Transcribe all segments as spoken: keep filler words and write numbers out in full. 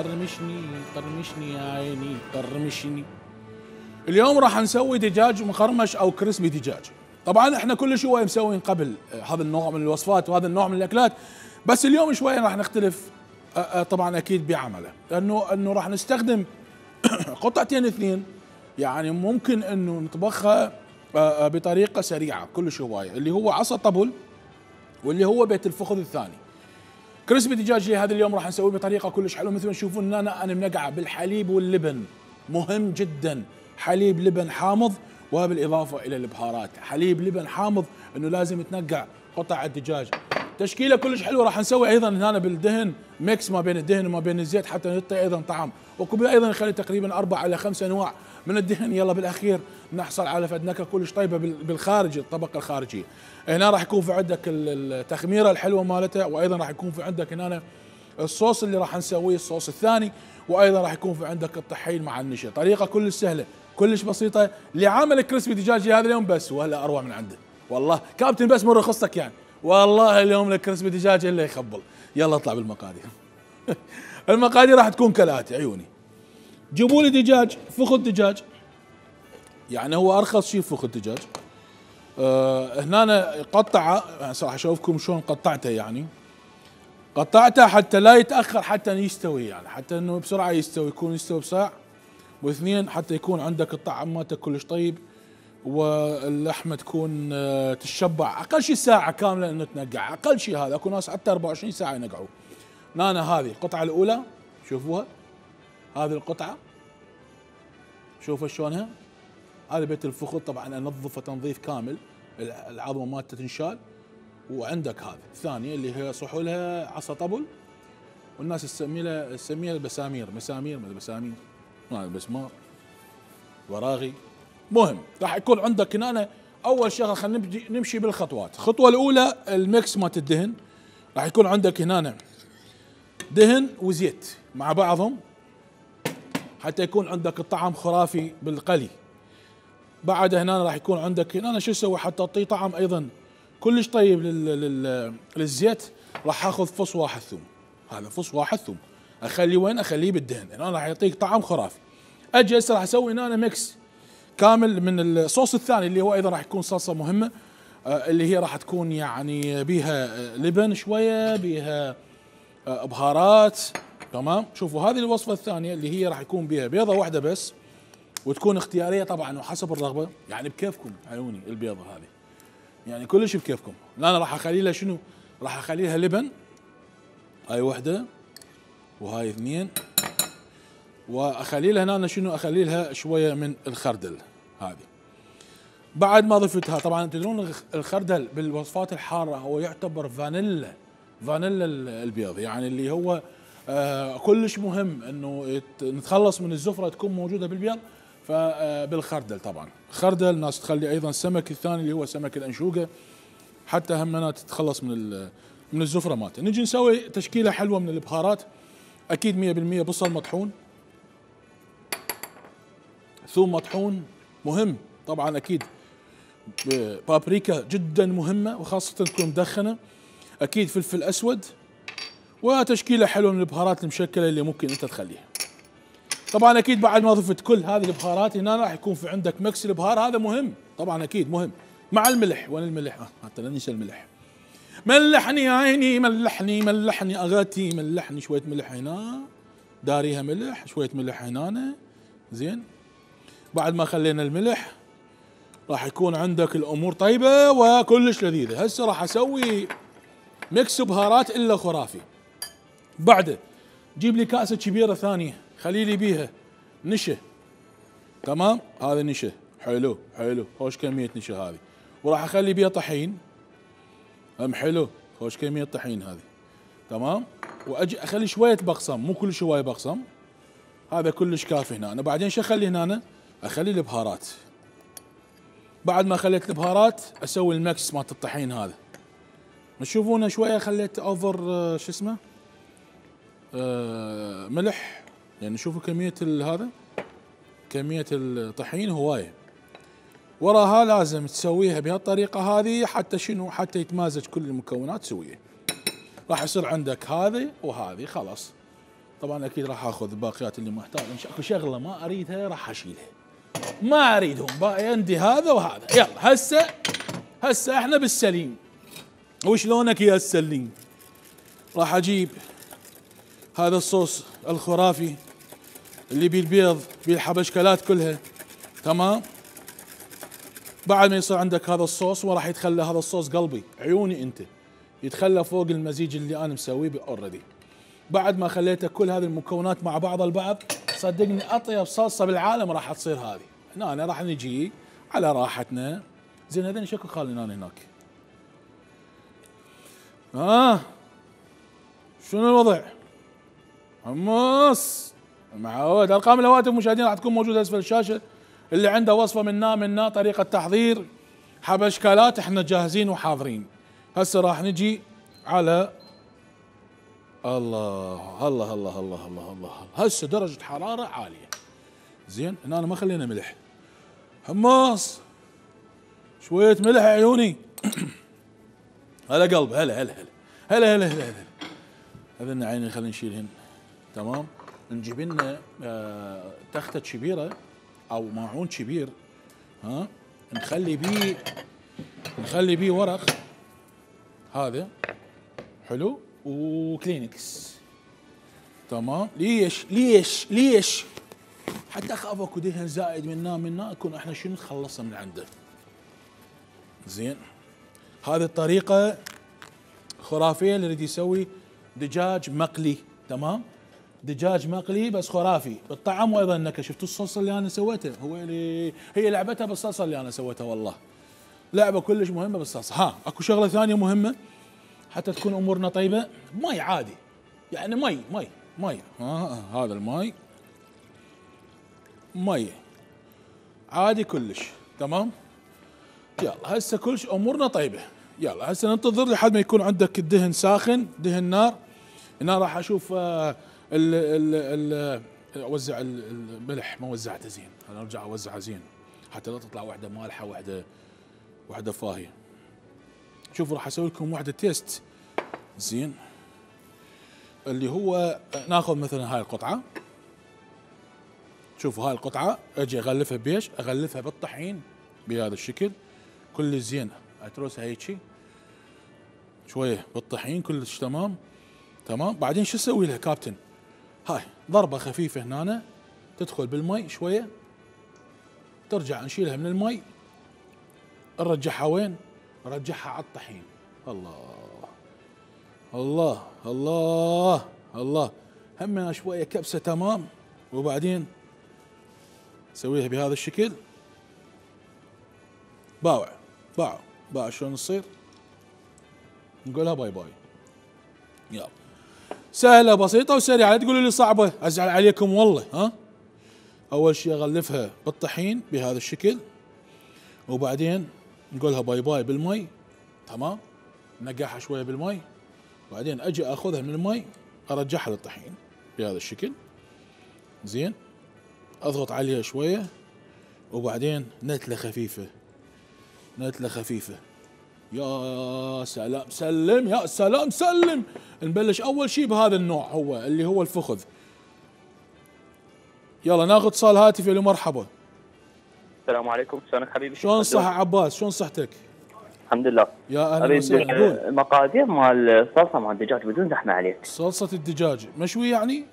قرمشني قرمشني يا عيني قرمشني. اليوم راح نسوي دجاج مقرمش او كريسبي دجاج. طبعا احنا كل شويه مسوين قبل هذا النوع من الوصفات وهذا النوع من الاكلات، بس اليوم شويه راح نختلف طبعا اكيد بعمله، لانه انه راح نستخدم قطعتين اثنين يعني ممكن انه نطبخها بطريقه سريعه كل شويه، اللي هو عصا طبل واللي هو بيت الفخذ الثاني. كريسبي دجاج هذا اليوم راح نسويه بطريقه كلش حلوه، مثل ما تشوفون ان انا انا منقعه بالحليب واللبن، مهم جدا حليب لبن حامض، وبالاضافه الى البهارات، حليب لبن حامض انه لازم تنقع قطع الدجاج. تشكيله كلش حلوه راح نسوي ايضا هنا بالدهن ميكس ما بين الدهن وما بين الزيت حتى يعطي ايضا طعم، وكبير ايضا نخلي تقريبا اربع الى خمس انواع من الدهن، يلا بالاخير نحصل على فد نكهه كلش طيبه بالخارج الطبقه الخارجيه. هنا راح يكون في عندك التخميره الحلوه مالتها، وايضا راح يكون في عندك هنا الصوص اللي راح نسويه الصوص الثاني، وايضا راح يكون في عندك الطحين مع النشا. طريقه كلش سهله كلش بسيطه لعمل كريسبي دجاجي هذا اليوم بس، ولا اروع من عنده والله. كابتن بس من رخصتك يعني والله اليوم الكريسبي دجاج الا يخبل. يلا اطلع بالمقادير. المقادير راح تكون كالاتي عيوني. جيبوا لي دجاج فخذ دجاج، يعني هو ارخص شيء فخذ دجاج. أه هنا أنا قطعه راح اشوفكم شلون قطعته، يعني قطعته حتى لا يتاخر حتى يستوي، يعني حتى انه بسرعه يستوي، يكون يستوي بساعه واثنين حتى يكون عندك الطعم مالته كلش طيب، واللحمه تكون تشبع اقل شيء ساعه كامله انه تنقع، اقل شيء هذا، اكو ناس حتى أربعة وعشرين ساعه ينقعوا. هنا هذه القطعه الاولى شوفوها، هذه القطعه شوفوا شلونها، هذا بيت الفخذ طبعا انظفه تنظيف كامل، العظمه مالته تنشال. وعندك هذه الثانيه اللي هي صحولها عصا طبل، والناس تسميها تسميها البسامير، مسامير ما بسامير ما بسمار وراغي. مهم راح يكون عندك هنا اول شغله خلينا نبدي نمشي بالخطوات. الخطوه الاولى الميكس مالت الدهن، راح يكون عندك هنا دهن وزيت مع بعضهم حتى يكون عندك الطعم خرافي بالقلي. بعد هنا راح يكون عندك هنا شو اسوي حتى تعطيه طعم ايضا كلش طيب لل للزيت، راح اخذ فص واحد ثوم، هذا فص واحد ثوم اخليه وين؟ اخليه بالدهن، هنا راح يعطيك طعم خرافي. اجي هسه راح اسوي هنا ميكس كامل من الصوص الثاني اللي هو ايضا راح يكون صلصه مهمه، آه اللي هي راح تكون يعني بيها لبن شويه، بيها آه بهارات، تمام. شوفوا هذه الوصفه الثانيه اللي هي راح يكون بيها بيضه واحده بس، وتكون اختياريه طبعا وحسب الرغبه، يعني بكيفكم عيوني البيضه هذه يعني كلش بكيفكم. لا انا راح اخلي لها شنو؟ راح اخلي لها لبن، هاي وحده وهاي اثنين، واخلي لها هنا شنو؟ اخلي لها شويه من الخردل هذه. بعد ما ضفتها طبعا تدرون الخردل بالوصفات الحاره هو يعتبر فانيلا، فانيلا البيض، يعني اللي هو آه كلش مهم انه نتخلص من الزفره تكون موجوده بالبيض، فبالخردل طبعا. خردل ناس تخلي ايضا السمك الثاني اللي هو سمك الانشوقه حتى همنا تتخلص من من الزفره مالته. نجي نسوي تشكيله حلوه من البهارات، اكيد مية بالمية بصل مطحون، ثوم مطحون مهم طبعا اكيد، بابريكا جدا مهمه وخاصه تكون مدخنه، اكيد فلفل اسود، وتشكيله حلوه من البهارات المشكله اللي ممكن انت تخليها. طبعا اكيد بعد ما ضفت كل هذه البهارات هنا راح يكون في عندك ميكس البهار، هذا مهم طبعا اكيد مهم، مع الملح. وين الملح؟ آه حتى لا ننسى الملح. ملحني يا عيني ملحني ملحني اغاتي ملحني، شويه ملح هنا داريها ملح، شويه ملح هنا زين. بعد ما خلينا الملح راح يكون عندك الامور طيبه وكلش لذيذه. هسه راح اسوي ميكس بهارات الا خرافي. بعده جيب لي كاسه كبيره ثانيه خلي لي بيها نشا، تمام. هذا نشا حلو حلو، خوش كميه نشا هذه، وراح اخلي بيها طحين هم حلو، خوش كميه طحين هذه، تمام. واجي اخلي شويه بقسم، مو كل شويه بقسم، هذا كلش كافي هنا. أنا بعدين شو اخلي هنا؟ اخلي البهارات. بعد ما خليت البهارات اسوي المكس مالت الطحين هذا. تشوفونه شويه خليت اوفر آه شو اسمه آه ملح، يعني شوفوا كميه هذا كميه الطحين هوايه. وراها لازم تسويها بهالطريقه هذه حتى شنو؟ حتى يتمازج كل المكونات سويه. راح يصير عندك هذه وهذه خلاص طبعا اكيد راح اخذ الباقيات اللي ما احتاج، اكو شغله ما اريدها راح اشيلها، ما اريدهم باقي عندي هذا وهذا. يلا هسه هسه احنا بالسليم. وشلونك يا السليم؟ راح اجيب هذا الصوص الخرافي اللي بيه البيض بيه الحبشكلات كلها، تمام. بعد ما يصير عندك هذا الصوص وراح يتخلى هذا الصوص قلبي عيوني انت، يتخلى فوق المزيج اللي انا مسويه اوريدي. بعد ما خليت كل هذه المكونات مع بعض البعض، صدقني اطيب صلصه بالعالم راح تصير هذه. هنا أنا راح نجي على راحتنا. زين هذين شكو خالينا هناك. اه شنو الوضع؟ حمص معود. ارقام الهواتف المشاهدين راح تكون موجوده اسفل الشاشه. اللي عنده وصفه منا منا طريقه تحضير حبشكلات احنا جاهزين وحاضرين. هسه راح نجي على الله الله الله الله الله الله. هسه درجه حراره عاليه. زين هنا أنا ما خلينا ملح. حمص شويه ملح عيوني. هلا قلب هلا هلا هلا هلا هلا هلا. هذن عيني خلينا نشيلهن. تمام. نجيب لنا آه تخته كبيره او ماعون كبير، ها نخلي بيه نخلي بيه ورق هذا حلو وكلينكس. تمام. ليش ليش ليش؟ حتى اخاف اكو دهن زائد منا منا نكون احنا شنو نخلصه من عنده. زين هذه الطريقه خرافيه اللي يريد يسوي دجاج مقلي. تمام. دجاج مقلي بس خرافي بالطعم وايضا النكهه. شفتوا الصلصه اللي انا سويتها؟ هو اللي هي لعبتها بالصلصه اللي انا سويتها. والله لعبه كلش مهمه بالصلصه. ها اكو شغله ثانيه مهمه حتى تكون امورنا طيبه. مي عادي يعني مي مي مي ها هذا المي مي عادي كلش. تمام. يلا هسه كلش امورنا طيبه. يلا هسه ننتظر لحد ما يكون عندك الدهن ساخن، دهن نار. هنا راح اشوف آه ال ال ال اوزع الملح ما وزعته زين. انا ارجع اوزعه زين حتى لا تطلع واحده مالحه واحده واحده فاهيه. شوفوا راح اسوي لكم واحده تيست زين اللي هو ناخذ مثلا هاي القطعه. شوفوا هاي القطعه اجي اغلفها بيش؟ اغلفها بالطحين بهذا الشكل كل زين. اترسها هيجي شويه بالطحين كلش تمام. تمام. بعدين شو اسوي لها كابتن؟ هاي ضربه خفيفه هنا تدخل بالمي شويه، ترجع نشيلها من المي نرجعها وين؟ نرجعها على الطحين. الله الله الله الله. همنا شويه كبسه. تمام. وبعدين نسويها بهذا الشكل. باوع باوع باوع. شلون تصير؟ نقولها باي باي. يلا سهله بسيطه وسريعه. لا تقولوا لي صعبه ازعل عليكم والله. ها اول شيء اغلفها بالطحين بهذا الشكل وبعدين نقولها باي باي بالمي. تمام. نقعها شويه بالمي وبعدين اجي اخذها من المي ارجعها للطحين بهذا الشكل. زين اضغط عليها شويه وبعدين نتله خفيفه نتله خفيفه. يا سلام سلم يا سلام سلم. نبلش اول شيء بهذا النوع هو اللي هو الفخذ. يلا ناخذ اتصال هاتفي. الو مرحبا. السلام عليكم. شلونك حبيبي؟ شلون صحة عباس؟ شلون صحتك؟ الحمد لله. يا اهلا وسهلا. قول. المقادير مال الصلصه مال الدجاج بدون زحمه عليك. صلصة الدجاج مشوي يعني؟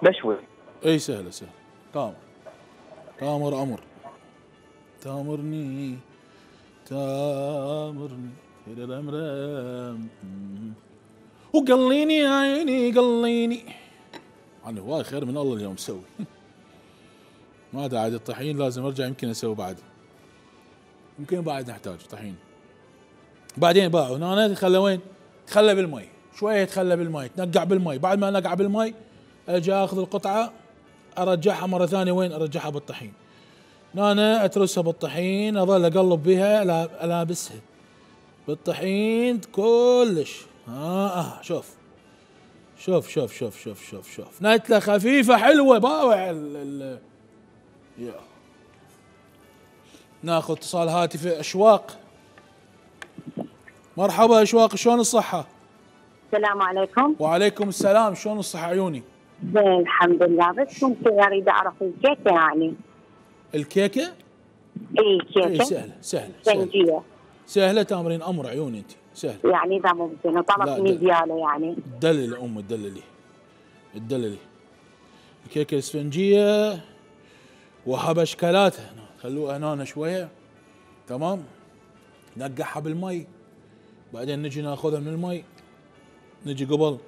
مشوي. اي سهلة سهلة. تامر تامر امر تامرني تامرني رمرم وقليني يا عيني قليني. انا هواي خير من الله اليوم مسوي. ما داعي الطحين لازم ارجع يمكن اسوي بعد. يمكن بعد نحتاج طحين. بعدين باعوا هنا يتخلى وين؟ تخلى بالمي شويه. يتخلى بالمي تنقع بالمي. بعد ما نقع بالمي اجي اخذ القطعه ارجعها مره ثانيه وين؟ ارجعها بالطحين. هنا اترسها بالطحين اظل اقلب بها الابسها بالطحين كلش. ها آه شوف شوف شوف شوف شوف شوف شوف نتله خفيفه حلوه باوع. ال ال يا ناخذ اتصال هاتفي. اشواق مرحبا اشواق. شلون الصحه؟ السلام عليكم. وعليكم السلام، شلون الصحة عيوني؟ زين الحمد لله، بس ممكن اريد اعرف الكيكه يعني. الكيكة؟ اي كيكه. اي سهلة سهلة سهلة اسفنجيه. سهلة تامرين امر عيوني انت، سهلة. يعني اذا ممكن لا، وطلب لا. ميزياله يعني. تدللي ام تدللي تدللي الكيكة الاسفنجية وهب اشكالاتها، خلوها هنا شوية. تمام، نقعها بالمي، بعدين نجي ناخذها من المي، نجي قبل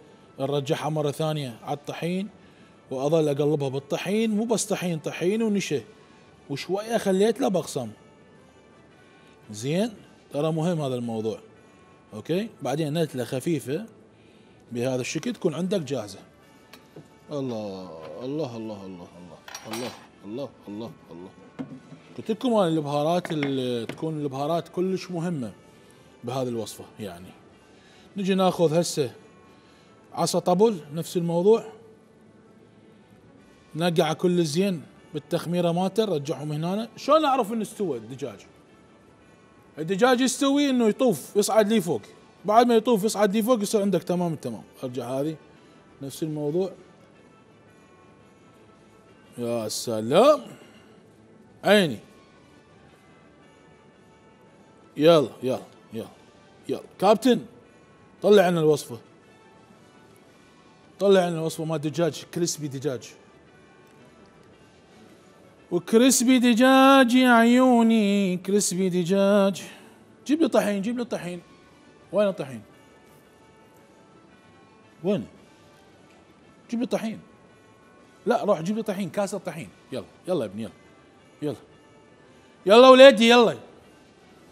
نرجعها مرة ثانية على الطحين، واظل اقلبها بالطحين، مو بس طحين، طحين ونشا، وشوية خليت له بقسم. زين، ترى مهم هذا الموضوع. اوكي، بعدين نتلة خفيفة بهذا الشكل تكون عندك جاهزة. الله الله الله الله الله الله الله الله الله. قلت لكم انا البهارات اللي تكون البهارات كلش مهمة بهذه الوصفة. يعني نجي ناخذ هسه عصا طبل، نفس الموضوع، نقع كل زين بالتخميرة مالته، نرجعهم هنا. شلون اعرف انه استوى الدجاج؟ الدجاج يستوي انه يطوف يصعد لي فوق، بعد ما يطوف يصعد لي فوق يصير عندك تمام التمام. ارجع هذه نفس الموضوع. يا سلام عيني. يلا يلا يلا يلا كابتن، طلع لنا الوصفة، طلع لنا الوصفة مال دجاج كريسبي دجاج. وكريسبي دجاج يا عيوني، كريسبي دجاج. جيب لي طحين، جيب لي طحين. وين الطحين؟ وين؟ جيب لي طحين. لا، روح جيب لي طحين، كاسة طحين. يلا يلا يا ابني، يلا يلا يلا وليدي يلا.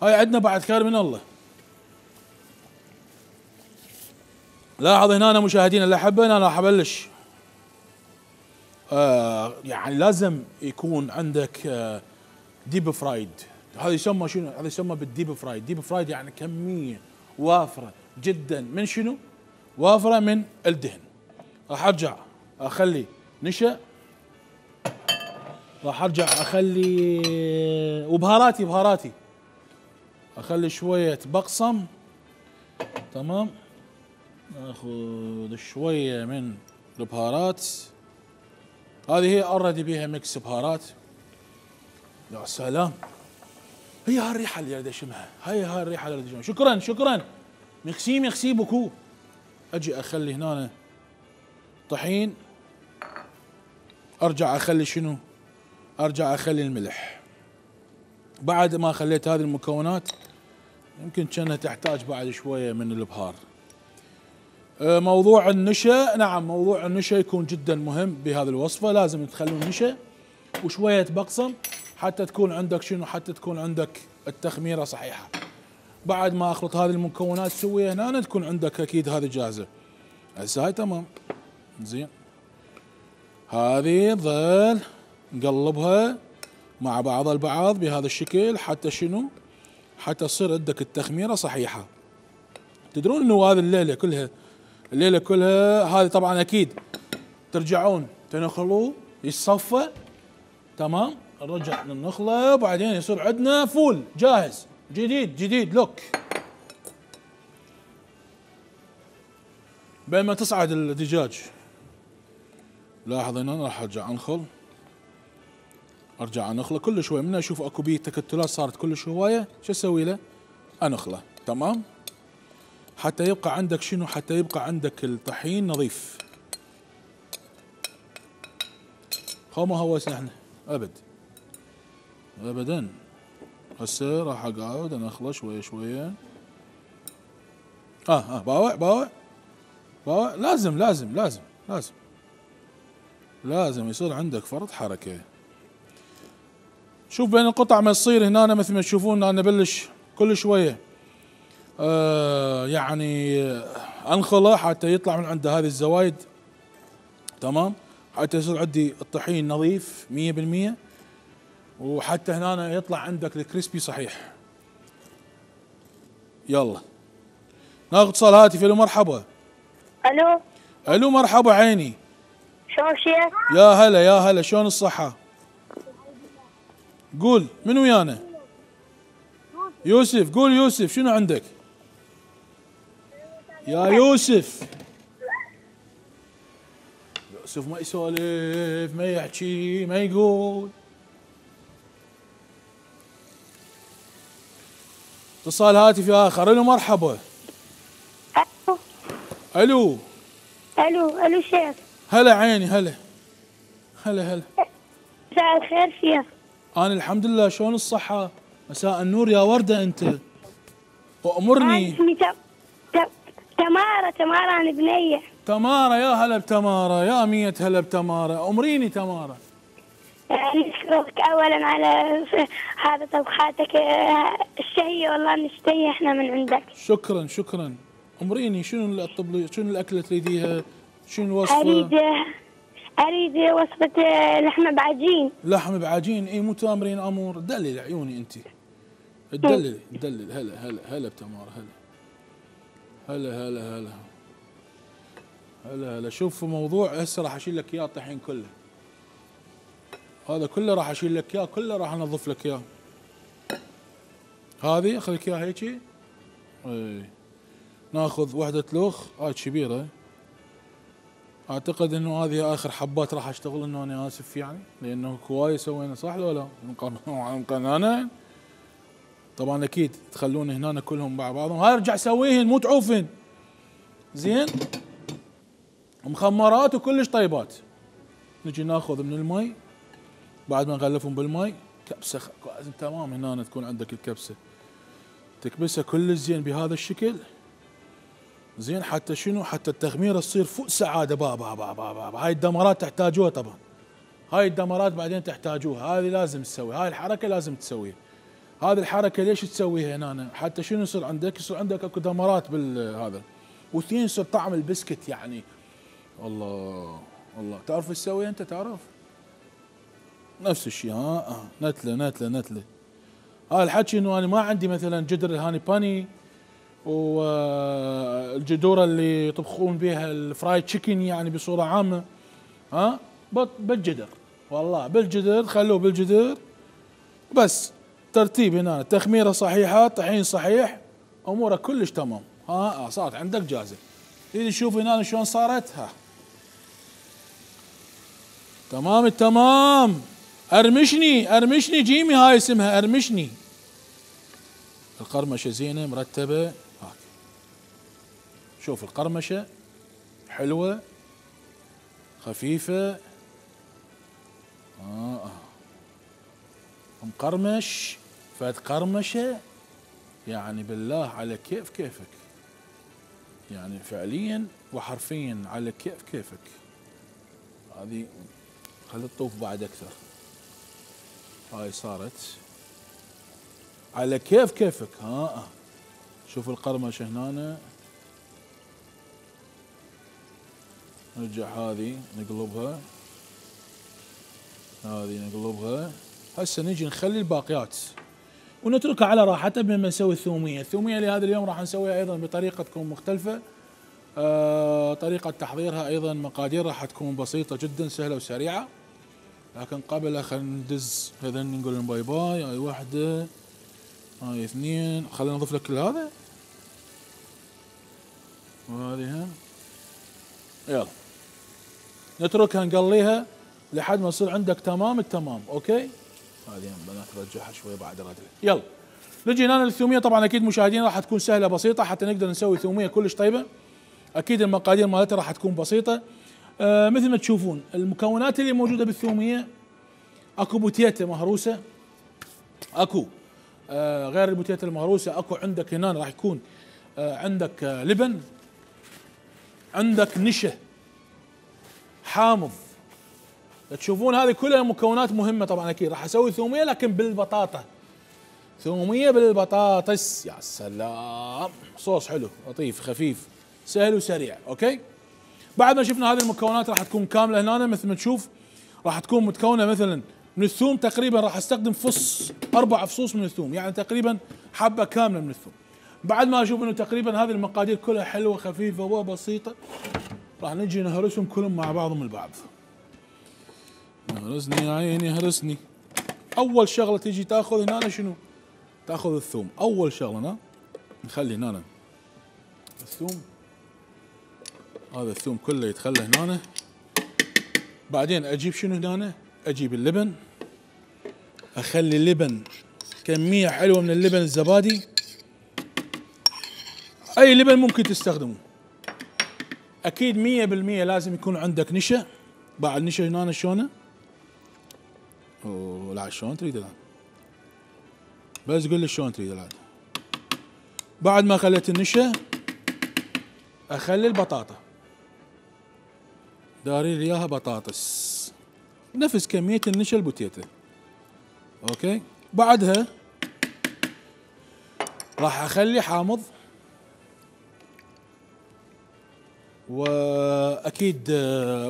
هاي عندنا بعد خير من الله. لاحظ هنا مشاهدينا الاحبه، انا راح ابلش. آه يعني لازم يكون عندك آه ديب فرايد. هذا يسمى شنو؟ هذا يسمى بالديب فرايد. ديب فرايد يعني كميه وافره جدا من شنو؟ وافره من الدهن. راح ارجع اخلي نشا، راح ارجع اخلي وبهاراتي بهاراتي اخلي شويه بقسم. تمام، ناخذ شويه من البهارات هذه، هي اوريدي بيها ميكس بهارات. يا سلام، هي هاي الريحه اللي اريد اشمها، هي هاي الريحه اللي اريد اشمها. شكرا شكرا، ميكسي ميكسي بوكو. اجي اخلي هنا طحين، ارجع اخلي شنو؟ ارجع اخلي الملح. بعد ما خليت هذه المكونات يمكن كانها تحتاج بعد شويه من البهار. موضوع النشا، نعم موضوع النشا يكون جدا مهم بهذه الوصفه، لازم تخلون نشا وشويه بقسم حتى تكون عندك شنو؟ حتى تكون عندك التخميره صحيحه. بعد ما اخلط هذه المكونات تسويها هنا، تكون عندك اكيد هذه جاهزه. هسه هاي تمام. زين، هذه ظل نقلبها مع بعض البعض بهذا الشكل حتى شنو؟ حتى تصير عندك التخميره صحيحه. تدرون انه هذه الليله كلها الليله كلها هذه طبعا اكيد ترجعون تنخلوه يصفى. تمام، نرجع نخله وبعدين يصير عندنا فول جاهز جديد جديد لوك. بين ما تصعد الدجاج لاحظ هنا راح ارجع انخل، ارجع انخله كل شوي. من اشوف اكو بيه تكتلات صارت كل شويه، شو اسوي له؟ انخله. تمام، حتى يبقى عندك شنو؟ حتى يبقى عندك الطحين نظيف. خو ما هوسنا احنا ابد ابدا. هسه راح اقعد انخله شويه شويه. اه اه باوع باوع باوع. لازم لازم لازم لازم لازم يصير عندك فرط حركه. شوف بين القطع ما تصير هنا مثل ما تشوفون انا بلش كل شويه آه يعني انخله حتى يطلع من عنده هذه الزوايد. تمام، حتى يصير عندي الطحين نظيف مية بالمية، وحتى هنا يطلع عندك الكريسبي صحيح. يلا ناخذ اتصال هاتفي. الو مرحبا. الو الو مرحبا عيني. شلون شيخ؟ يا هلا يا هلا، شلون الصحة؟ قول من ويانا؟ يوسف. قول يوسف، شنو عندك؟ يا يوسف. يوسف ما يسولف، ما يحكي، ما يقول. اتصال هاتفي اخر. الو مرحبا. الو الو الو الو شيخ. هلا عيني هلا هلا هلا. مساء الخير شيخ. انا الحمد لله، شلون الصحة؟ مساء النور يا وردة انت. وامرني. اسمي تم... تم... تمارة تمارة انا بنية. تمارة، يا هلا بتمارة، يا مية هلا بتمارة. امريني تمارة. نشكرك اولا على هذا طبخاتك الشهية، والله نشتهي احنا من عندك. شكرا شكرا. امريني شنو الطب، شنو الاكلة تريديها؟ شنو الوصفة؟ اريد اريد وصفة لحمة بعجين. لحم بعجين. اي مو تامرين امور. دلل عيوني انت. تدلل تدلل. هلا هلا هلا بتمارة. هلا هلا هلا هلا هلا هلا. شوف موضوع هسه راح اشيل لك اياه الطحين كله. هذا كله راح اشيل لك اياه، كله راح انظف لك اياه. هذه اخذ لك اياها هيجي. اي ناخذ وحدة لوخ، هاي كبيرة. اعتقد انه هذه اخر حبات راح اشتغل، انه انا اسف يعني، لانه كواي سوينا صح ولا لا؟ ممكن انا طبعا اكيد تخلون هنا كلهم مع بعضهم. هاي ارجع سويهن مو تعوفن. زين. مخمرات وكلش طيبات. نجي ناخذ من المي بعد ما نغلفهم بالمي كبسه خ... تمام. هنا تكون عندك الكبسه تكبسها كلش زين بهذا الشكل. زين حتى شنو؟ حتى التخميره تصير فوق سعاده. بابا بابا بابا. هاي الدمرات تحتاجوها طبعا. هاي الدمرات بعدين تحتاجوها. هذه لازم تسوي، هاي الحركه لازم تسويها. هذه الحركه ليش تسويها هنا؟ حتى شنو يصير عندك؟ يصير عندك اكو دمرات بالهذا، واثنين يصير طعم البسكت يعني. الله الله. تعرف ايش تسوي انت؟ تعرف نفس الشيء. ها آه. نتله نتله نتله. هذا الحكي انه انا ما عندي مثلا جدر الهاني باني والجدوره اللي يطبخون بها الفرايد تشيكن يعني بصوره عامه. ها بالجدر، والله بالجدر. خلوه بالجدر بس. ترتيب هنا، تخميره صحيحه، طحين صحيح، اموره كلش تمام. ها آه صارت عندك جاهزه. تريد تشوف هنا شلون صارت؟ ها تمام التمام. ارمشني ارمشني جيمي. هاي اسمها ارمشني. القرمشه زينه مرتبه. هاك شوف القرمشه حلوه خفيفه. آه. مقرمش فد قرمشه يعني بالله على كيف كيفك، يعني فعليا وحرفيا على كيف كيفك. هذه خلي تطوف بعد اكثر. هاي صارت على كيف كيفك. ها شوف القرمشه هنا. نرجع هذه نقلبها، هذه نقلبها. هسه نجي نخلي الباقيات ونتركها على راحتها بما نسوي الثوميه. الثوميه لهذا اليوم راح نسويها ايضا بطريقه تكون مختلفه. آه طريقه تحضيرها ايضا مقاديرها راح تكون بسيطه جدا سهله وسريعه. لكن قبل خلينا ندز هذين نقول لهم باي باي. هاي واحده، هاي اثنين. خلينا نضيف لك كل هذا وهذه. يلا نتركها نقليها لحد ما يصير عندك تمام التمام. اوكي. هذه بنات نرجعها شوي بعد رجله. يلا نجي هنا للثوميه. طبعا اكيد مشاهدينا راح تكون سهله بسيطه حتى نقدر نسوي ثوميه كلش طيبه. اكيد المقادير مالتها راح تكون بسيطه. آه مثل ما تشوفون المكونات اللي موجوده بالثوميه، اكو بوتيته مهروسه، اكو آه غير البوتيته المهروسه اكو عندك هنا راح يكون آه عندك آه لبن، عندك نشا حامض. تشوفون هذه كلها مكونات مهمه. طبعا اكيد راح اسوي ثوميه لكن بالبطاطا. ثوميه بالبطاطس. يا سلام. صوص حلو لطيف خفيف سهل وسريع. اوكي. بعد ما شفنا هذه المكونات راح تكون كامله هنا مثل ما تشوف. راح تكون متكونه مثلا من الثوم تقريبا راح استخدم فص اربع فصوص من الثوم، يعني تقريبا حبه كامله من الثوم. بعد ما اشوف انه تقريبا هذه المقادير كلها حلوه خفيفه وبسيطه، راح نجي نهرسهم كلهم مع بعضهم البعض. هرسني يا عيني هرسني. اول شغله تيجي تاخذ هنا شنو؟ تاخذ الثوم. اول شغله هنا نخلي هنا الثوم هذا الثوم كله يتخلى هنا. بعدين اجيب شنو هنا؟ اجيب اللبن، اخلي اللبن كمية حلوة من اللبن الزبادي، اي لبن ممكن تستخدمه. اكيد مية بالمية لازم يكون عندك نشا. بعد نشا هنا شلونه؟ اوه لا شلون تريد الان؟ بس قول لي شلون تريد الان. بعد ما خليت النشا اخلي البطاطا، داري لي اياها بطاطس نفس كمية النشا البوتيتا. اوكي بعدها راح اخلي حامض، واكيد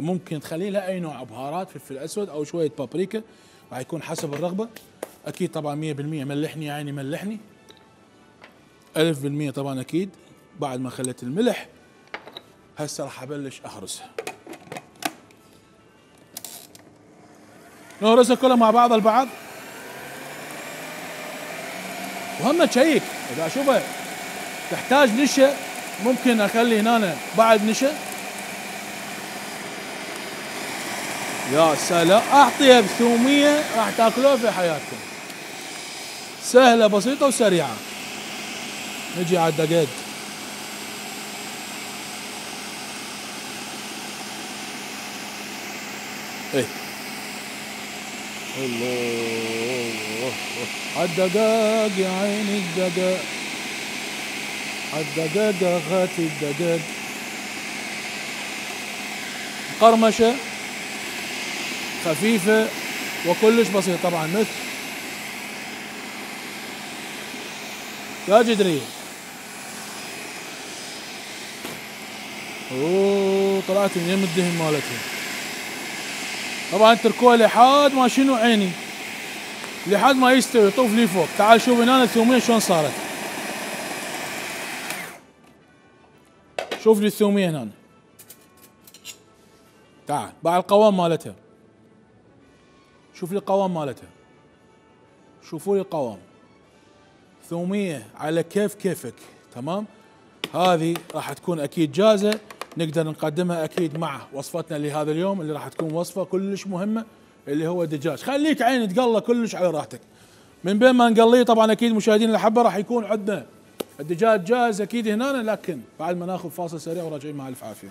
ممكن تخلي لها اي نوع بهارات، فلفل اسود او شوية بابريكا، راح يكون حسب الرغبة. اكيد طبعا مية بالمية ملحني يا عيني ملحني، ألف بالمية طبعا اكيد. بعد ما خليت الملح هسه راح ابلش اهرسها. نهرسها كلها مع بعض البعض. وهم تشيك اذا اشوفها تحتاج نشا ممكن اخلي هنا بعد نشا. يا سلام، اعطيها بثومية راح تاكلوها في حياتكم. سهلة بسيطة وسريعة. نجي على الدقاق. ايه الله الدقاق يا عيني الدقاق، الدقاق اخاتي الدقاق. قرمشة خفيفة وكلش بسيط طبعا مثل يا جدرية. اوه طلعت من يم الدهن مالتها. طبعا تركوها لحد ما شنو عيني، لحد ما يستوي طوف لي فوق. تعال شوف هنا الثومية شلون صارت. شوف لي الثومية هنا. تعال بعد القوام مالتها، شوف لي القوام مالتها، شوفوا لي القوام. ثومية على كيف كيفك تمام. هذه راح تكون اكيد جاهزة، نقدر نقدمها اكيد مع وصفتنا لهذا اليوم اللي راح تكون وصفة كلش مهمة اللي هو دجاج. خليك عيني تقلى كلش على راحتك. من بين ما نقليه طبعا اكيد مشاهدين الاحبة راح يكون عندنا الدجاج جاهز اكيد هنا، لكن بعد ما ناخذ فاصل سريع وراجعين مع الف عافية.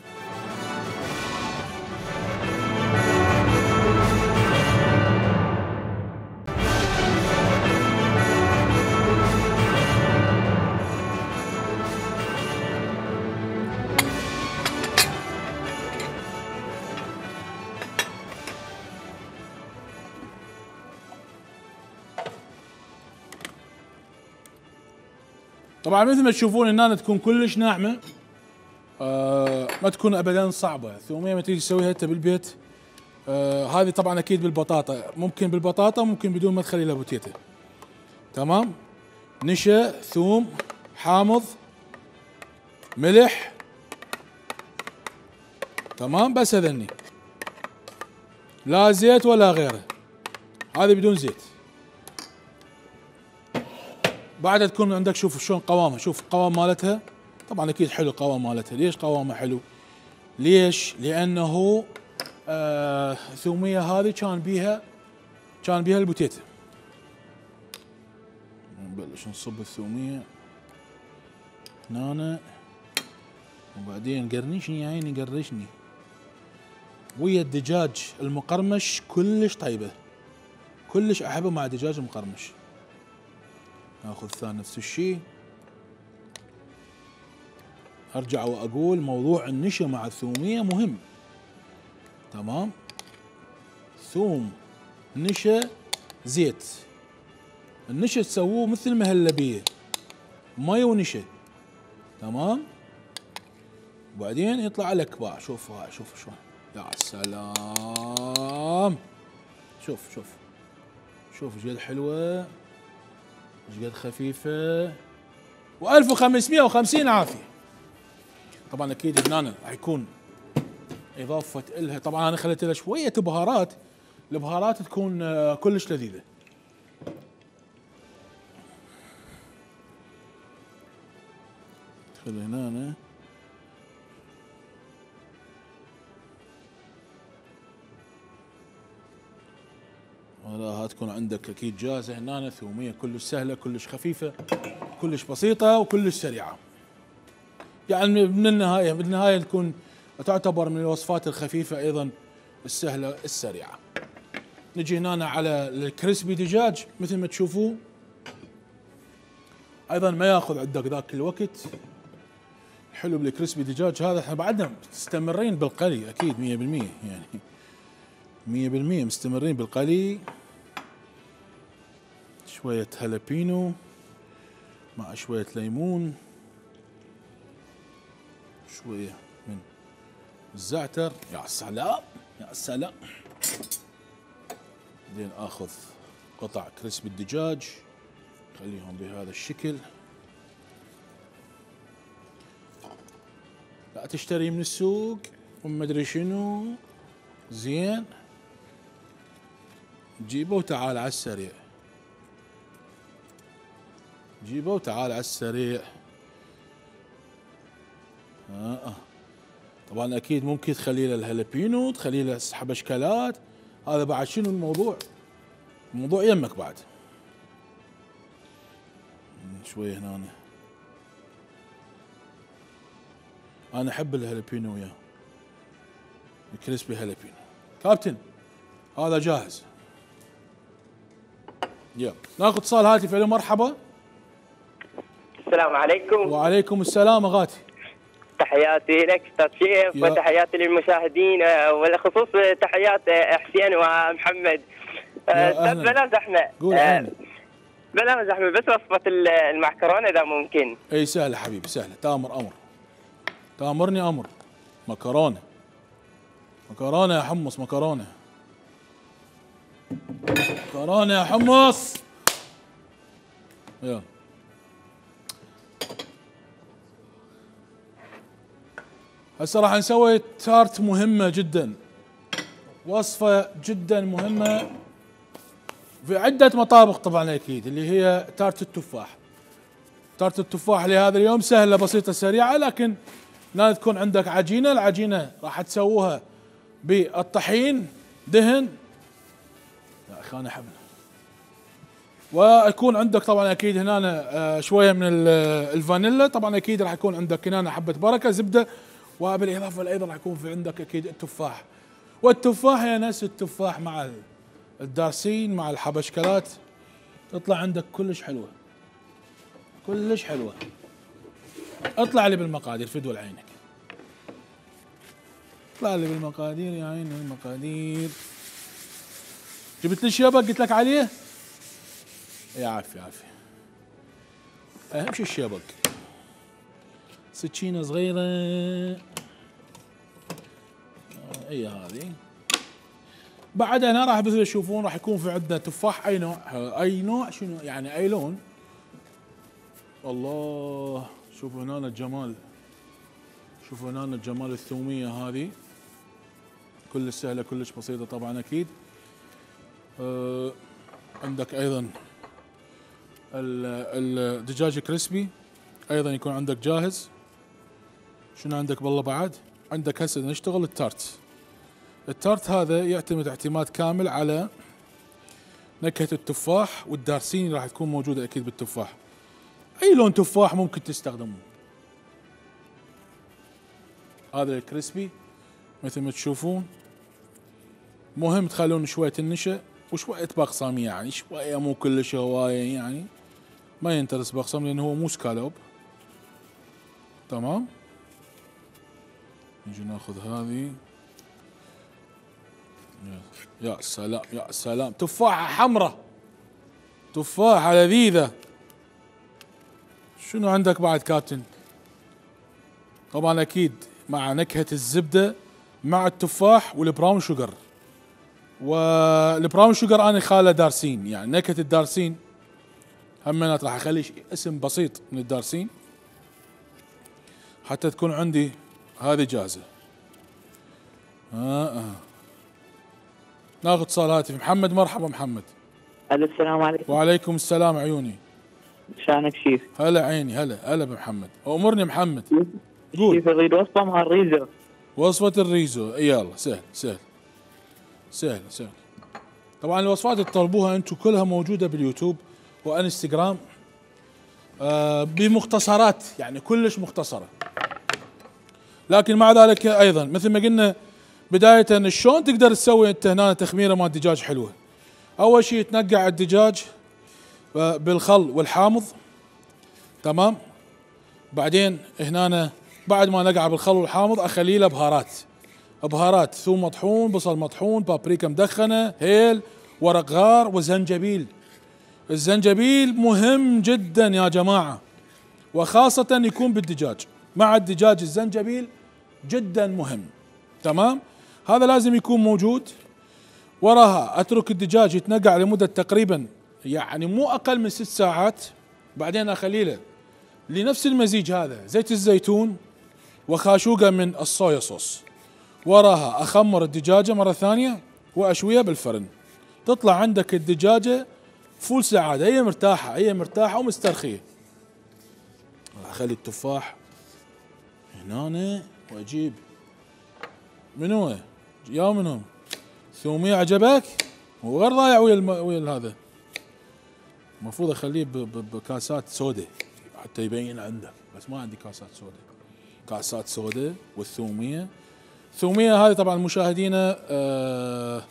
طبعا مثل ما تشوفون هنا تكون كلش ناعمه، آه ما تكون ابدا صعبه. الثوميه ما تيجي تسويها انت بالبيت. آه هذه طبعا اكيد بالبطاطا، ممكن بالبطاطا ممكن بدون ما تخلي لها بوتيتا. تمام. نشا، ثوم، حامض، ملح. تمام بس هذني، لا زيت ولا غيره. هذه بدون زيت. بعدها تكون عندك شوف شلون قوامها، شوف القوام مالتها. طبعا اكيد حلو القوام مالتها. ليش قوامها حلو؟ ليش؟ لانه آه الثوميه هذه كان بيها كان بيها البوتيتا. نبلش نصب الثوميه هنا، وبعدين قرنشني يا عيني قرشني ويا الدجاج المقرمش. كلش طيبه، كلش احبه مع دجاج مقرمش. ناخذ ثاني نفس الشيء. ارجع واقول موضوع النشا مع الثوميه مهم. تمام. ثوم، نشا، زيت. النشا تسووه مثل مهلبيه، مي ونشا. تمام. وبعدين يطلع لك بقى. شوف هاي، شوف شلون. يا سلام. شوف شوف شوف ايش قد حلوه، ايش قد خفيفه. وألف وخمسمية وخمسين عافيه. طبعا اكيد هنا راح يكون اضافه الها. طبعا انا خليت لها شويه بهارات، البهارات تكون كلش لذيذه. ادخل هنا تكون عندك اكيد جاهزه هنا. ثوميه كلش سهله، كلش خفيفه، كلش بسيطه، وكلش سريعه. يعني من النهايه بالنهايه تكون تعتبر من الوصفات الخفيفه ايضا السهله السريعه. نجي هنا على الكريسبي دجاج مثل ما تشوفوا، ايضا ما ياخذ عندك ذاك الوقت. حلو بالكريسبي دجاج هذا، احنا بعدنا مستمرين بالقلي اكيد مية بالمية، يعني مية بالمية مستمرين بالقلي. شوية هالبينو مع شوية ليمون، شوية من الزعتر. يا سلام يا سلام. بعدين اخذ قطع كريسبي الدجاج خليهم بهذا الشكل. لا تشتري من السوق وما ادري شنو، زين جيبه وتعال على السريع، جيبه وتعال على السريع. آه. طبعا اكيد ممكن تخلي له الهالبينو، تخلي له حبشكلات، هذا بعد شنو الموضوع؟ الموضوع يمك بعد. شويه هنا انا احب الهالبينو وياه، الكريسبي هالبينو. كابتن هذا جاهز. يلا ناخذ اتصال هاتف. الو مرحبا. السلام عليكم. وعليكم السلام اغاتي. تحياتي لك استاذ شيف وتحياتي للمشاهدين، وبالخصوص تحيات حسين ومحمد. استاذ بلا زحمه. قول أه بلا زحمه، بس وصفه المعكرونه اذا ممكن. اي سهله حبيبي سهله، تامر امر، تامرني امر. مكرونه مكرونه يا حمص، مكرونه مكرونه يا حمص. يلا هسه راح نسوي تارت مهمه جدا، وصفه جدا مهمه في عده مطابخ طبعا اكيد، اللي هي تارت التفاح. تارت التفاح لهذا اليوم سهله بسيطه سريعه، لكن لازم تكون عندك عجينه. العجينه راح تسووها بالطحين دهن. يا اخي انا حبل. ويكون عندك طبعا اكيد هنا شويه من الفانيلا، طبعا اكيد راح يكون عندك هنا حبه بركه زبده، وبالاضافه ايضا راح يكون في عندك اكيد التفاح. والتفاح هي نفس التفاح مع الدارسين مع الحبشكلات، تطلع عندك كلش حلوه كلش حلوه. اطلع لي بالمقادير فدوى عينك، اطلع لي بالمقادير يا عيني المقادير. جبت لي الشبك قلت لك عليه؟ يا عافية عافية. اهم شيء الشبك. سكينة صغيرة اي هذه. بعد هنا راح مثل تشوفون راح يكون في عندنا تفاح اي نوع، اي نوع شنو يعني اي لون. الله شوفوا هنا الجمال، شوفوا هنا الجمال. الثومية هذه كلش سهلة كلش بسيطة طبعا اكيد. أه عندك ايضا الدجاج كريسبي ايضا يكون عندك جاهز. شنو عندك بالله بعد؟ عندك هسه نشتغل التارت. التارت هذا يعتمد اعتماد كامل على نكهة التفاح والدارسين، راح تكون موجودة اكيد بالتفاح. اي لون تفاح ممكن تستخدمه. هذا الكريسبي مثل ما تشوفون. مهم تخلون شوية النشا وشوية بقسم، يعني شوية مو كلش هواية، يعني ما ينترس بقسم لأنه هو مو سكالوب. تمام. نجي ناخذ هذه. يا سلام يا سلام، تفاحة حمراء، تفاحة لذيذة. شنو عندك بعد كابتن؟ طبعا أكيد مع نكهة الزبدة مع التفاح والبراون شوجر. والبراون شوجر انا خاله دارسين، يعني نكهه الدارسين همينات راح اخلي اسم بسيط من الدارسين حتى تكون عندي هذه جاهزه. آه آه. ناخذ اتصال هاتف. محمد مرحبا محمد. الو السلام عليكم. وعليكم السلام عيوني. شانك شيف؟ هلا عيني هلا هلا بمحمد. امرني محمد. قول. شيف اريد وصفه مع الريزو. وصفه الريزو يلا. سهل سهل سهل سهل. طبعا الوصفات اللي تطلبوها انتم كلها موجوده باليوتيوب وانستغرام آه بمختصرات، يعني كلش مختصره. لكن مع ذلك ايضا مثل ما قلنا بدايه شلون تقدر تسوي انت هنا تخميره مال دجاج حلوه. اول شيء تنقع الدجاج بالخل والحامض، تمام. بعدين هنا بعد ما نقع بالخل والحامض اخلي له بهارات، بهارات ثوم مطحون، بصل مطحون، بابريكا مدخنه، هيل، ورق غار، وزنجبيل. الزنجبيل مهم جدا يا جماعه، وخاصه يكون بالدجاج. مع الدجاج الزنجبيل جدا مهم، تمام. هذا لازم يكون موجود. وراها اترك الدجاج يتنقع لمده تقريبا يعني مو اقل من ست ساعات. بعدين اخلي له لنفس المزيج هذا زيت الزيتون وخاشوقه من الصويا صوص. وراها اخمر الدجاجه مره ثانيه واشويها بالفرن. تطلع عندك الدجاجه فول سعاده، هي مرتاحه، هي مرتاحه ومسترخيه. اخلي التفاح هنا واجيب من هو يا منهم ثومية عجبك وغير ضايع ويا الم... ويا هذا. المفروض اخليه ب... ب... بكاسات سوداء حتى يبين عندك، بس ما عندي كاسات سوداء. كاسات سوداء والثومية. الثومية هذه طبعا مشاهدينا آه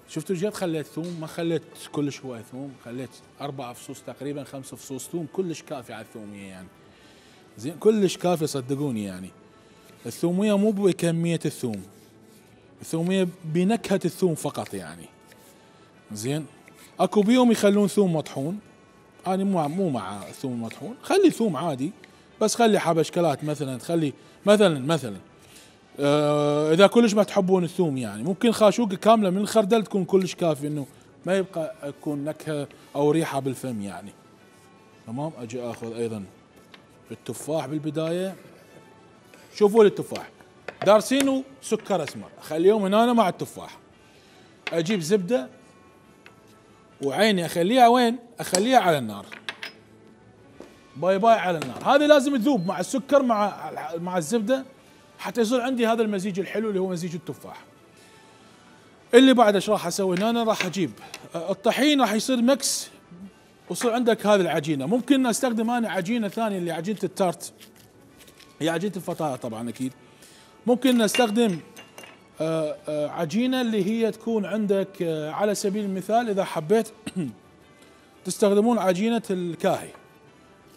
شفتوا جد خليت ثوم، ما خليت كلش هواي ثوم، خليت اربع فصوص تقريبا، خمس فصوص ثوم، كلش كافي على الثومية يعني. زين كلش كافي صدقوني يعني. الثومية مو بكمية الثوم، الثومية بنكهة الثوم فقط يعني. زين اكو بيهم يخلون ثوم مطحون، انا مو مو مع الثوم المطحون، خلي ثوم عادي بس خلي حبشكلات مثلا، تخلي مثلا مثلا آه اذا كلش ما تحبون الثوم يعني ممكن خاشوقة كاملة من الخردل تكون كلش كافي انه ما يبقى يكون نكهة او ريحة بالفم يعني. تمام. اجي اخذ ايضا التفاح بالبداية. شوفوا لي التفاح دارسينه سكر اسمر، اخليهم هنا مع التفاح. اجيب زبده وعيني اخليها وين؟ اخليها على النار. باي باي على النار. هذه لازم تذوب مع السكر مع مع الزبده حتى يصير عندي هذا المزيج الحلو اللي هو مزيج التفاح. اللي بعد ايش راح اسوي هنا؟ راح اجيب الطحين، راح يصير مكس ويصير عندك هذه العجينه. ممكن استخدم انا عجينه ثانيه اللي عجينه التارت، هي عجينه الفطاير طبعا اكيد. ممكن نستخدم آآ آآ عجينة اللي هي تكون عندك على سبيل المثال إذا حبيت تستخدمون عجينة الكاهي،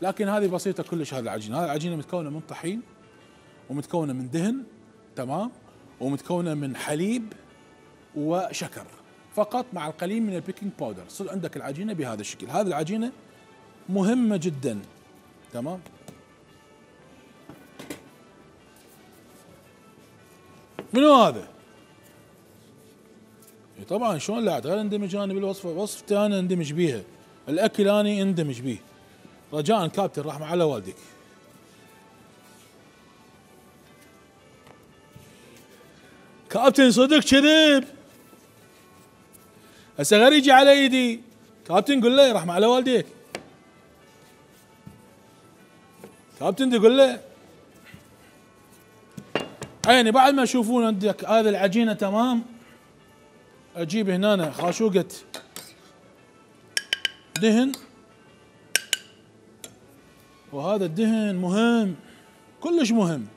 لكن هذه بسيطة كلش. هذه العجينة، هذه العجينة متكونة من طحين ومتكونة من دهن، تمام، ومتكونة من حليب وشكر فقط مع القليل من البيكنج باودر. تصير عندك العجينة بهذا الشكل. هذه العجينة مهمة جدا، تمام. منو هذا؟ طبعا شلون لا غير اندمج انا بالوصفه، وصفتي انا اندمج بيها، الاكل اني اندمج بيه. رجاء كابتن رحمه على والديك. كابتن صدق كذب، هسه غير يجي على ايدي. كابتن قول له رحمه على والديك. كابتن دي قول له عيني. بعد ما يشوفون عندك هذه العجينه تمام، اجيب هنا خاشوقه دهن، وهذا الدهن مهم كلش مهم.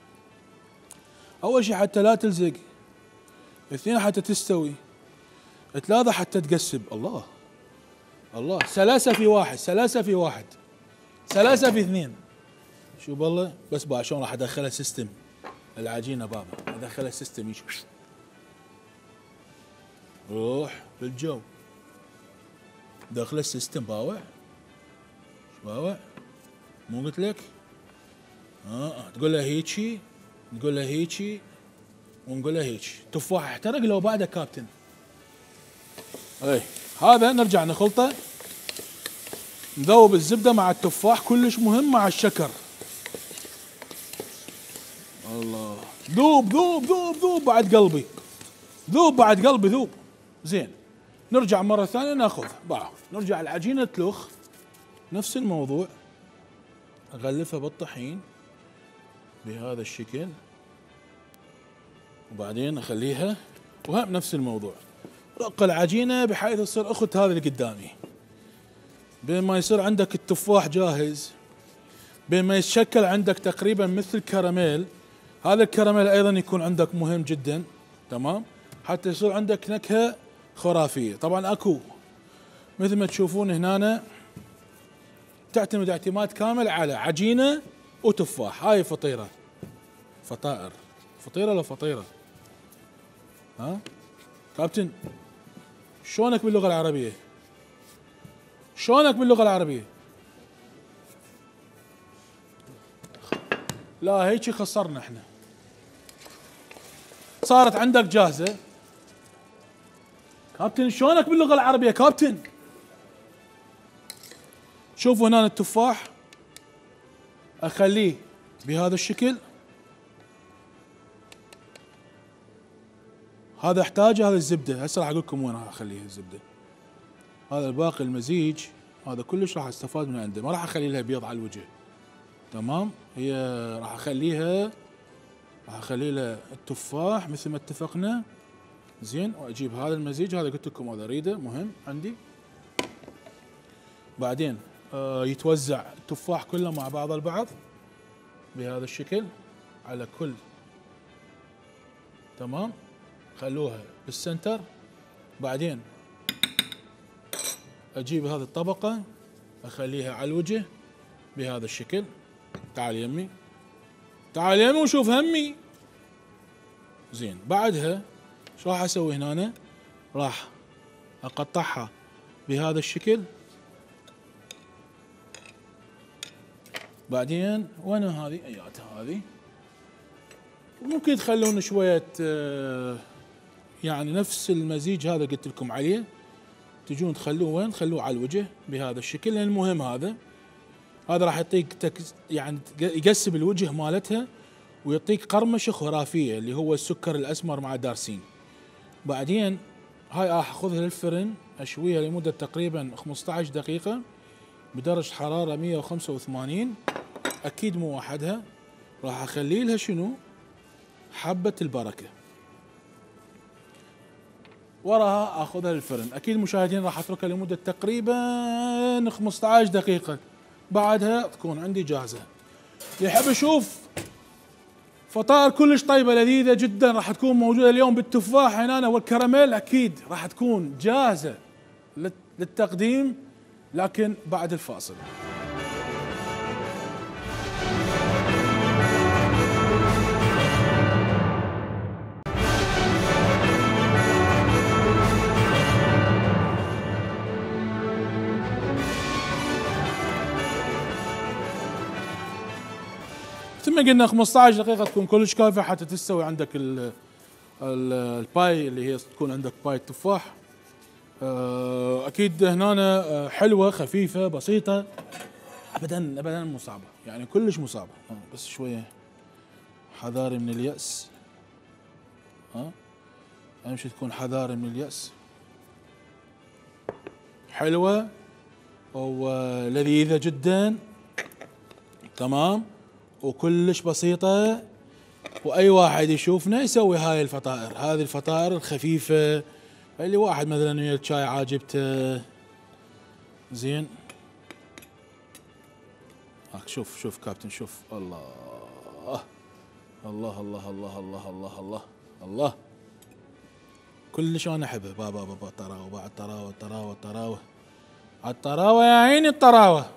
اول شيء حتى لا تلزق، اثنين حتى تستوي، ثلاثه حتى تقسب. الله الله، سلاسه في واحد، سلاسه في واحد، سلاسه في اثنين. شوف والله بس بقى شلون راح ادخلها سيستم العجينه بابا، ادخلها سيستم يشوف روح بالجو داخل السيستم. باوع باوع مو قلت لك؟ اه تقول له هيجي، تقول له هيجي، ونقول له هيجي. تفاح احترق لو بعده كابتن. اي هذا نرجع نخلطه، نذوب الزبده مع التفاح كلش مهم مع الشكر. الله، ذوب ذوب ذوب ذوب بعد قلبي، ذوب بعد قلبي ذوب. زين نرجع مرة ثانية ناخذ بعض، نرجع العجينة تلخ نفس الموضوع، اغلفها بالطحين بهذا الشكل، وبعدين اخليها وهم نفس الموضوع. رق العجينه بحيث تصير اخت هذا اللي قدامي. بين ما يصير عندك التفاح جاهز، بين ما يتشكل عندك تقريبا مثل كراميل، هذا الكراميل ايضا يكون عندك مهم جدا، تمام، حتى يصير عندك نكهه خرافيه. طبعا اكو مثل ما تشوفون هنا تعتمد اعتماد كامل على عجينه وتفاح. هاي فطيره، فطائر، فطيره ولا فطيره؟ ها كابتن شلونك باللغه العربيه؟ شلونك باللغه العربيه؟ لا هيك خسرنا احنا. صارت عندك جاهزه. كابتن شلونك باللغه العربيه كابتن؟ شوفوا هنا التفاح اخليه بهذا الشكل، هذا احتاجه، هذا الزبده، هسه راح اقول لكم وين راح اخليها الزبده. هذا الباقي المزيج هذا كلش راح استفاد من عنده، ما راح اخلي لها بيض على الوجه، تمام؟ هي راح اخليها راح اخلي لها التفاح مثل ما اتفقنا، زين، واجيب هذا المزيج، هذا قلت لكم هذا اريده مهم عندي. بعدين آه يتوزع التفاح كله مع بعض البعض بهذا الشكل على كل، تمام، خلوها بالسنتر. بعدين اجيب هذه الطبقة اخليها على الوجه بهذا الشكل. تعال يمي، تعال يمي وشوف همي. زين، بعدها شو راح اسوي هنا؟ راح اقطعها بهذا الشكل. بعدين وين هذه؟ اياتها هذه. ممكن تخلون شوية آه يعني نفس المزيج هذا قلت لكم عليه، تجون تخلوه وين؟ تخلوه على الوجه بهذا الشكل، لان المهم هذا هذا راح يعطيك يعني يقسم الوجه مالتها ويعطيك قرمشه خرافيه اللي هو السكر الاسمر مع دارسين. بعدين هاي راح اخذها للفرن اشويها لمده تقريبا خمسة عشر دقيقه بدرجه حراره مئة وخمسة وثمانين، اكيد مو وحدها. راح اخلي لها شنو؟ حبه البركه. وراها اخذها للفرن، اكيد مشاهدين راح اتركها لمده تقريبا خمسة عشر دقيقه، بعدها تكون عندي جاهزه. اللي يحب يشوف فطائر كلش طيبه لذيذه جدا راح تكون موجوده اليوم بالتفاح هنا والكراميل، اكيد راح تكون جاهزه للتقديم، لكن بعد الفاصل. ثم قلنا خمسة عشر دقيقة تكون كلش كافية حتى تستوي عندك ال ال الباي اللي هي تكون عندك باي التفاح. أكيد هنا حلوة خفيفة بسيطة، أبدا أبدا مو صعبة، يعني كلش مو صعبة، بس شوية حذاري من اليأس. ها أهم شيء تكون حذاري من اليأس. حلوة ولذيذة جدا، تمام، وكلش بسيطة، وأي واحد يشوفنا يسوي هاي الفطائر، هذه الفطائر الخفيفة اللي واحد مثلا ويا الشاي عاجبته. زين، هاك شوف شوف كابتن، شوف الله الله الله الله الله الله الله الله، كلش أنا أحبه. بابا بابا طراوة، بعد طراوة طراوة طراوة، الطراوة يا عيني الطراوة،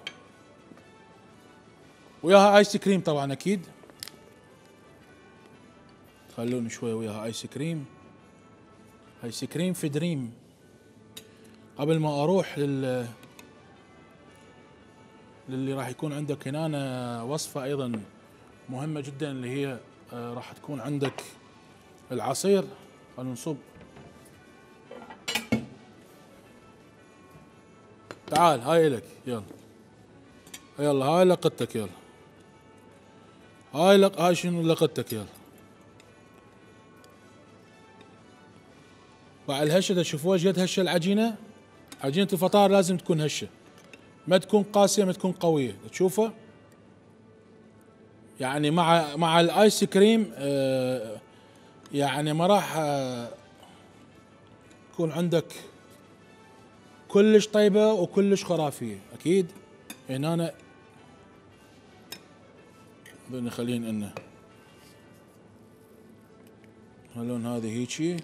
وياها ايس كريم طبعا اكيد. خلوني شوي وياها ايس كريم، ايس كريم في دريم. قبل ما اروح لل للي راح يكون عندك هنا وصفة ايضا مهمة جدا اللي هي راح تكون عندك العصير. خلونا نصب. تعال هاي لك، يلا يلا هاي لقطتك، يلا هاي لق... هاي شنو لقطتك، يلا. بعد الهشه تشوفوها ايش قد هشه العجينه. عجينه الفطائر لازم تكون هشه، ما تكون قاسيه، ما تكون قويه، تشوفها يعني مع مع الايس كريم آه يعني ما راح آه تكون عندك كلش طيبه وكلش خرافيه اكيد. هنا أنا بدنا نخلين انه تخلون هذه هيجي،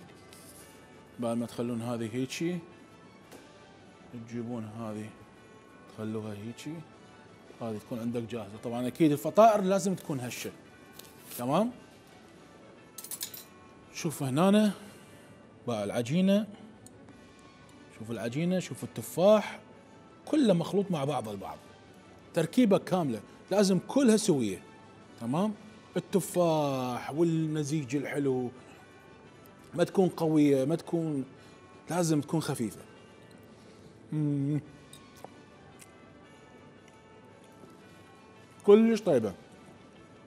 بعد ما تخلون هذه هيجي تجيبون هذه تخلوها هيجي، هذه تكون عندك جاهزه. طبعا اكيد الفطائر لازم تكون هشه، تمام. شوف هنا بقى العجينه، شوف العجينه، شوف التفاح، كله مخلوط مع بعض البعض، تركيبه كامله لازم كلها سويه، تمام. التفاح والمزيج الحلو، ما تكون قويه، ما تكون، لازم تكون خفيفه. مم. كلش طيبه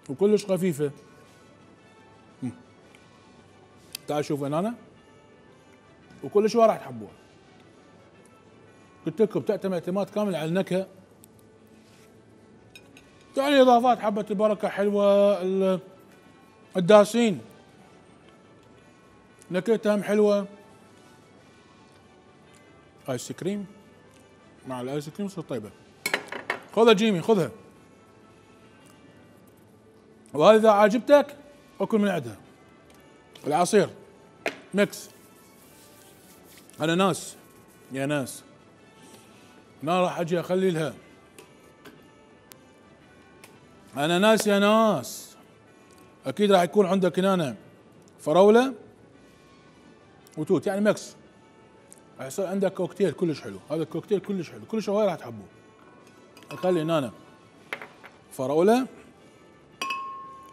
وكلش خفيفه. مم. تعال شوف هنا، وكل شوي راح تحبوها. قلت لكم تعتمد اعتماد كامل على النكهه، يعني اضافات حبه البركه حلوه، الداسين نكهتهم حلوه. ايس كريم مع الايس كريم تصير طيبه. خذها جيمي خذها، وهذا اذا عجبتك اكل من عندها. العصير ميكس اناناس يا ناس، ما راح اجي اخلي لها اناناس يا ناس. اكيد راح يكون عندك هنا فراوله وتوت، يعني ميكس، راح يصير عندك كوكتيل كلش حلو. هذا الكوكتيل كلش حلو، كلش هواي راح تحبوه. اخلي هنا فراوله،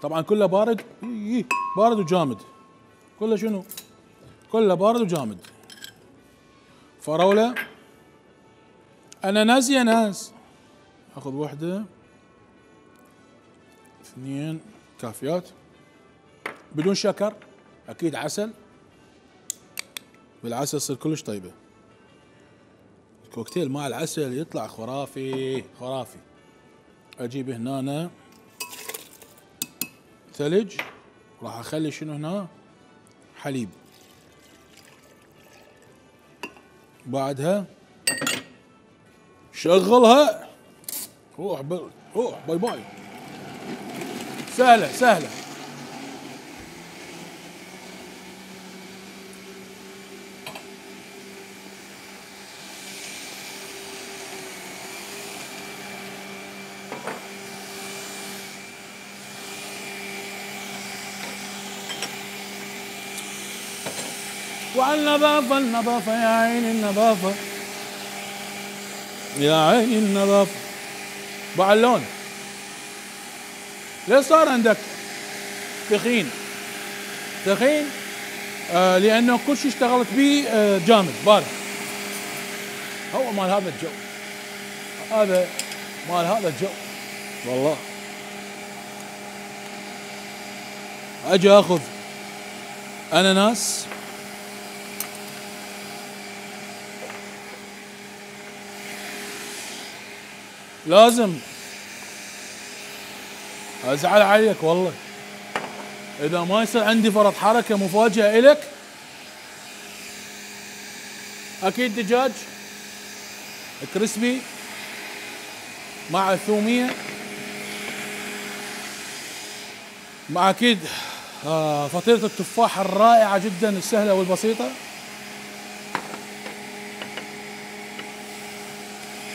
طبعا كله بارد، بارد وجامد، كله شنو؟ كله بارد وجامد. فراوله، اناناس يا ناس. اخذ واحده اثنين كافيات بدون شكر، اكيد عسل، بالعسل تصير كلش طيبه. الكوكتيل مع العسل يطلع خرافي خرافي. اجيب هنا ثلج، راح اخلي شنو هنا؟ حليب. بعدها شغلها، روح روح باي باي. سهله سهله. وعلى النظافة النظافة يا عيني النظافة، يا عيني النظافة. بعد اللون ليش صار عندك تخين؟ تخين آه لأنه كل شيء اشتغلت به آه جامد بارد. هو مال هذا الجو، هذا مال هذا الجو والله. أجي أخذ أناناس، لازم ازعل عليك والله اذا ما يصير عندي فرط حركه مفاجاه الك. اكيد دجاج كريسبي مع الثوميه، مع اكيد آه فطيره التفاح الرائعه جدا السهله والبسيطه،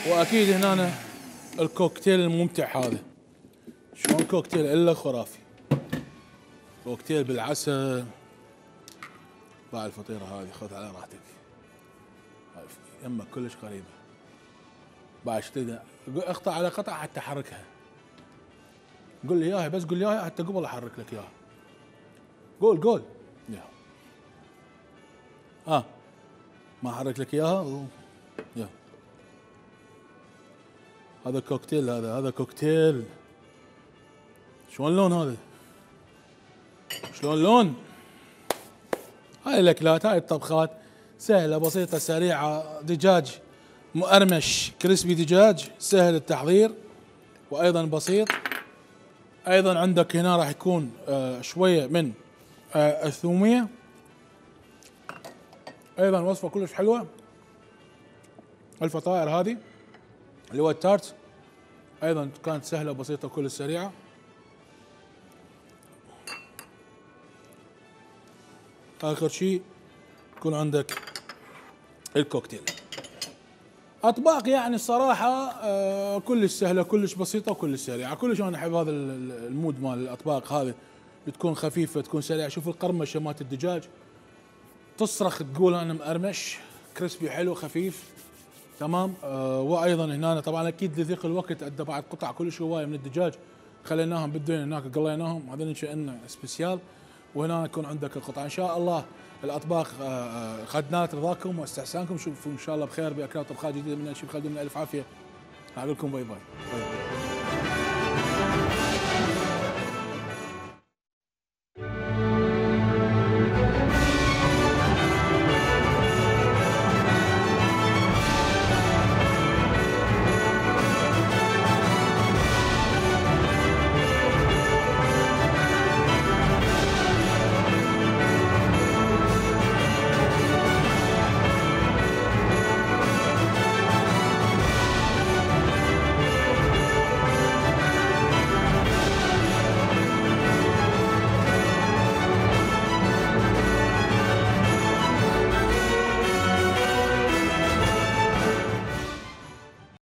واكيد هنا الكوكتيل الممتع هذا. شلون كوكتيل الا خرافي، كوكتيل بالعسل مع الفطيره هذه. خذ على راحتك، يمك كلش قريبه. بعد تقدر اقطع على قطع حتى احركها. قول لي اياها، بس قول لي اياها حتى قبل احرك لك اياها. قول قول يا اه ما احرك لك اياها. يا هذا كوكتيل، هذا هذا كوكتيل. شلون اللون هذا؟ شلون اللون؟ هاي الاكلات، هاي الطبخات سهله بسيطه سريعه. دجاج مقرمش كريسبي، دجاج سهل التحضير وايضا بسيط. ايضا عندك هنا راح يكون آه شويه من آه الثوميه، ايضا وصفه كلش حلوه، الفطائر هذه اللي هو التارت، ايضا كانت سهله وبسيطه وكلش سريعه. اخر شيء يكون عندك الكوكتيل. اطباق يعني الصراحه آه كلش سهله كلش بسيطه وكلش سريعه، كلش انا احب هذا المود مال الاطباق هذه، بتكون خفيفه تكون سريعه. شوف القرمشه مالت الدجاج تصرخ تقول انا مقرمش، كريسبي حلو خفيف تمام. آه وايضا هنا طبعا اكيد لضيق الوقت ادى بعد قطع كلش هوايه من الدجاج خليناهم بالدنيا هناك قليناهم، هذول كأنه سبيسيال، وهنا يكون عندك القطع. ان شاء الله الاطباق خدنات رضاكم واستحسانكم، شوفوا ان شاء الله بخير باكلات طبخات جديده من الشيف خالد. من الف عافيه، اقول لكم باي باي, باي, باي.